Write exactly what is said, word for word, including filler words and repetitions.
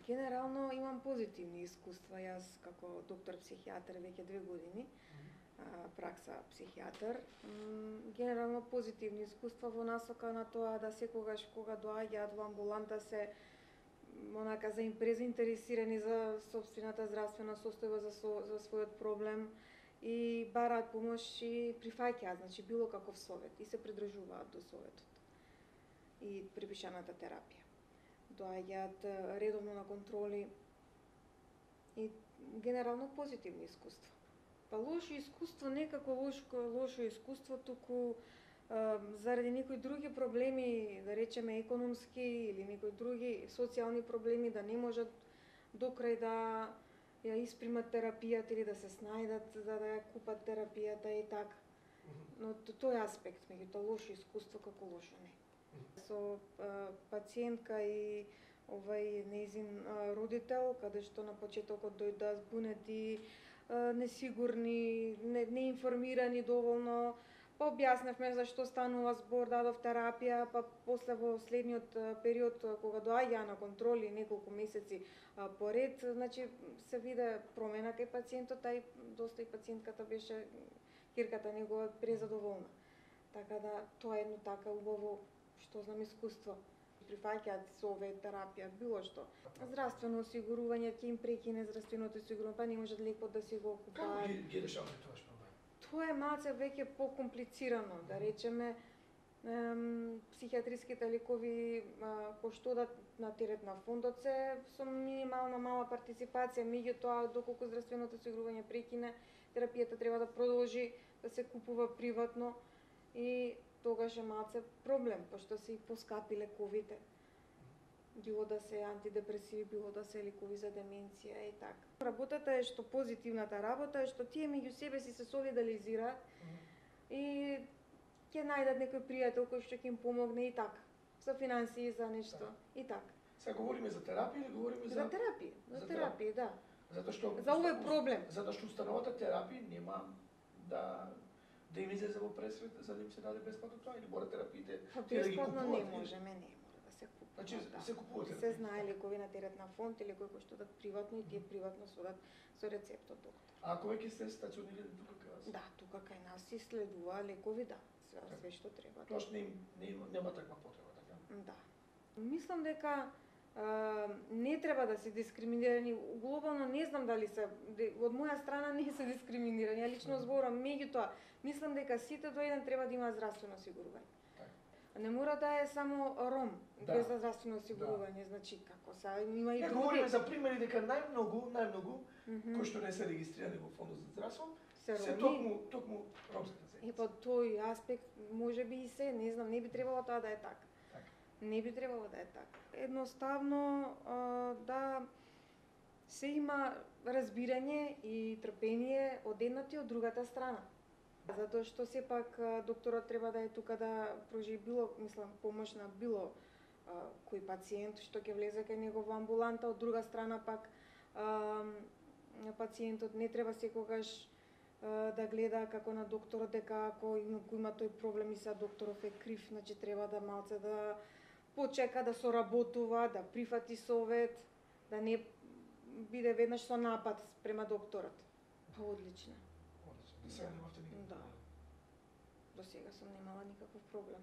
Генерално имам позитивни искуства, јас како доктор психијатар веќе две години, а, пракса психијатар. Генерално позитивни искуства во насока на тоа да секогаш кога доаѓаат во амбуланта се онака за презаинтересирани за сопствената здравствена состојба, за, со, за својот проблем и бараат помош и прифаќаат, значи било каков совет и се придржуваат до советот и припишаната терапија. Доаѓаат редовно на контроли и генерално позитивни искуства. Па лошо искуство, некако лошо, лошо искуство, туку а, заради некои други проблеми, да речеме економски или некои други социјални проблеми, да не можат до крај да ја испримат терапијата или да се снајдат за да ја купат терапијата и така. Но тој аспект, меѓутоа лошо искуство како лошо не. Со а, пациентка и овај нејзин родител, каде што на почетокот дојдоа збунети, а, несигурни, не, неинформирани доволно, па објаснавме за што станува збор, дадов терапија, па после во следниот период кога доаѓаа на контроли неколку месеци а, поред, значи се виде промена кај пациентот, а и доста и пациентката беше, кирката негова презадоволна. Така да тоа е едно така убаво, што знам, искуство. Прифаќаат совет, терапија, било што. Здравствено осигурување ќе им прекине здравственото осигурување, па не можат лекот да си го купаат. Како ги, ги решавате тоа што? Тоа е малце веќе покомплицирано, да речеме, ем, психијатриските лекови кои што одат на терет на фондот се со минимална мала партиципација, меѓутоа доколку здравственото осигурување прекине, терапијата треба да продолжи да се купува приватно и тогаш е малце проблем, пошто се и поскапи лековите. Било да се антидепресиви, било да се лекови за деменција и така. Работата е што позитивната работа е што тие меѓу себе си се солидализираат mm -hmm. и ќе најдат некој пријател кој што ќе им помогне и така. За финансии, за нешто да. И така. Сега говориме за терапија или говориме за... За терапија, за, за терапија, да. Затоа што... За овој проблем. Затоа што установата терапија нема да... да им излезе во пресвет за да им се даде бесплатно тоа или мора терапиите па, да ги купуваат? Не можеме, не мора да се купува. Значи да. се купуваат. Се знае лекови на терет на фонд или кои што дат приватно и тие приватно содат со рецепт од доктор. А ако веќе сте стационирани тука кај вас? Да, тука кај нас се следува лекови, да, све, све што треба. Тоа што не, не, нема таква потреба, така? Да. Мислам дека Uh, не треба да се дискриминирани. Глобално не знам дали се, од моја страна не се дискриминирани, ја лично зборам, меѓутоа, мислам дека сите до еден треба да има здравствено осигурување. Так. Не мора да е само ром да. без здравствено осигурување, да. Значи како са, има и други. Говориме за примери дека најмногу, најмногу, mm -hmm. кои што не се регистрирани во фондот за здравство, се, се токму, токму ромските заедници. И по тој аспект, можеби и се, не знам, не би требало тоа да е така. Не би требало да е така. Едноставно а, да се има разбирање и трпение од едната и од другата страна. Затоа што сепак докторот треба да е тука да пружи било, мислам, помош на било а, кој пациент што ќе влезе кај него во амбуланта, од друга страна пак а, пациентот не треба секогаш а, да гледа како на докторот дека ако има, има тој проблем и са докторов е крив, значи треба да малце да почека да соработува, да прифати совет, да не биде веднаш со напад према докторот. Па одлично. Одлично. До сега немавте никаков проблем? Да. До сега сум немала никаков проблем.